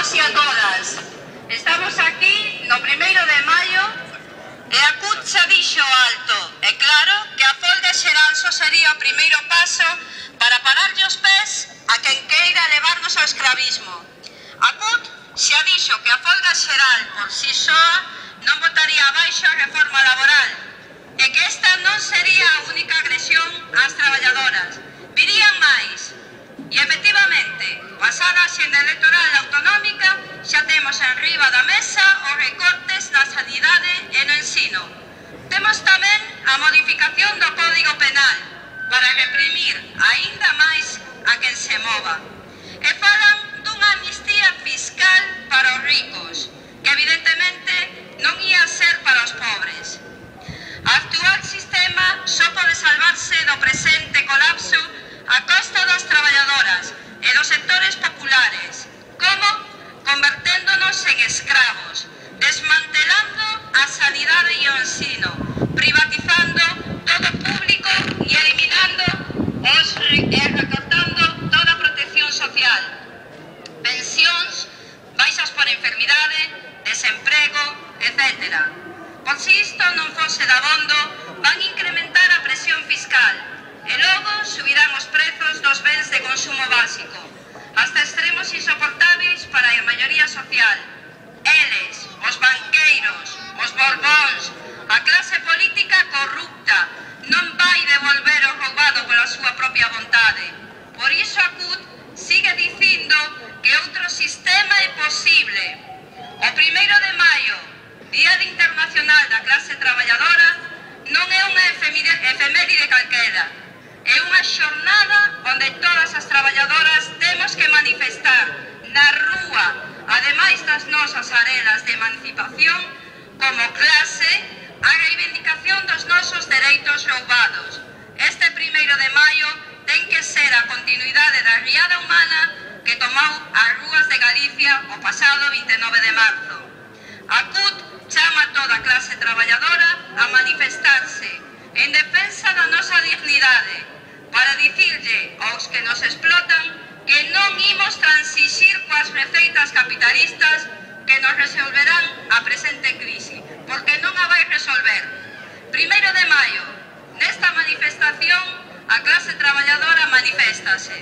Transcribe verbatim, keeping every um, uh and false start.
todos e a todas. Estamos aquí no primeiro de maio e a C U T xa dixo alto. É claro que a folga xeral só sería o primeiro paso para pararlle os pés a quen queira levarnos ao escravismo. A C U T xa dixo que a folga xeral por si soa non botaría abaixo a reforma laboral e que esta non sería a única agresión ás traballadoras. Virían máis. E, efectivamente, pasada a xenda electoral autonómica, xa temos enriba da mesa os recortes na sanidade e no ensino. Temos tamén a modificación do Código Penal para reprimir aínda máis a quen se mova. E falan dunha amnistía fiscal para os ricos, que evidentemente non ia ser para os pobres. O actual sistema só pode salvarse do presente colapso a costa das traballadoras e dos sectores populares, como converténdonos en escravos, desmantelando a sanidade e o ensino, privatizando todo público e eliminando os e recortando toda a protección social, pensións, baixas por enfermidade, desemprego, etcétera. Por si isto non fose dabondo, van incrementar a presión fiscal e logo subirán os prezos dos bens de consumo básico, hasta extremos insoportáveis para a maioría social. Eles, os banqueiros, os borbóns, a clase política corrupta, non vai devolver o roubado pola súa propia vontade. Por iso a C U T sigue dicindo que outro sistema é posible. O primeiro de maio, Día Internacional da Clase Traballadora, non é unha efeméride calquera. É unha xornada onde todas as traballadoras temos que manifestar na rúa, ademais das nosas arelas de emancipación, como clase, a reivindicación dos nosos dereitos roubados. Este primeiro de maio ten que ser a continuidade da riada humana que tomou as rúas de Galicia o pasado vinte e nove de marzo. A C U T chama a toda a clase traballadora a manifestarse en defensa da nosa dignidade, para dicirlle aos que nos explotan que non imos transixir coas receitas capitalistas que nos resolverán a presente crise, porque non a vai resolver. Primeiro de maio, nesta manifestación, a clase traballadora maniféstase.